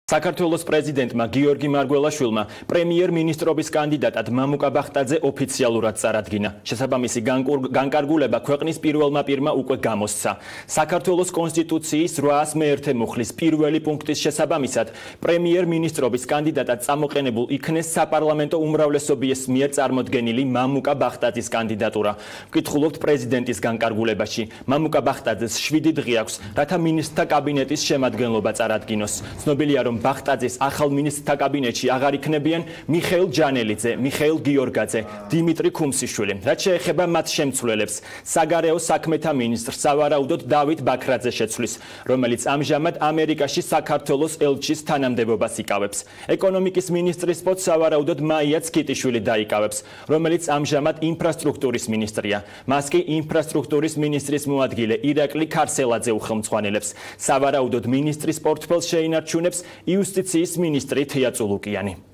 საქართველოს პრეზიდენტმა გიორგი მარგველაშვილმა პრემიერ-მინისტრობის კანდიდატად მამუკა ბახტაძე ოფიციალურად წარადგინა. შესაბამისი განკარგულება ქვეყნის პირველმა პირმა უკვე გამოსცა. საქართველოს კონსტიტუციის 801 მუხლის პირველი პუნქტის შესაბამისად პრემიერ-მინისტრობის კანდიდატად წამოყენებულ იქნეს საპარლამენტო უმრავლესობის მიერ წარმოდგენილი მამუკა ბახტაძის კანდიდატურა. ვკითხულობთ პრეზიდენტის განკარგულებაში. მამუკა ბახტაძეს 7 დღე აქვს, რათა მინისტრთა კაბინეტის შემადგენლობა წარადგინოს. ცნობილია, რომ ბახტაძის ახალ მინისტრთა კაბინეტში აღარ იქნებიან მიხეილ ჯანელიძე, მიხეილ გიორგაძე, დიმიტრი ქუმსიშვილი. რაც შეეხება მათ შემცვლელებს, საგარეო საქმეთა მინისტრს სავარაუდოდ დავით ბაქრაძე შეცვლის, რომელიც ამჟამად ამერიკაში საქართველოს ელჩის თანამდებობას იკავებს. ეკონომიკის მინისტრის პოსტს სავარაუდოდ მაია ცქიტიშვილი დაიკავებს, რომელიც ამჟამად ინფრასტრუქტურის მინისტრია. მას კი ინფრასტრუქტურის მინისტრის მოადგილე ირაკლი ქარსელაძე უხელმძღვანელებს. სავარაუდოდ მინისტრის პორტფელს შეინარჩუნებს იუსტიციის მინისტრი თია წულუკიანი.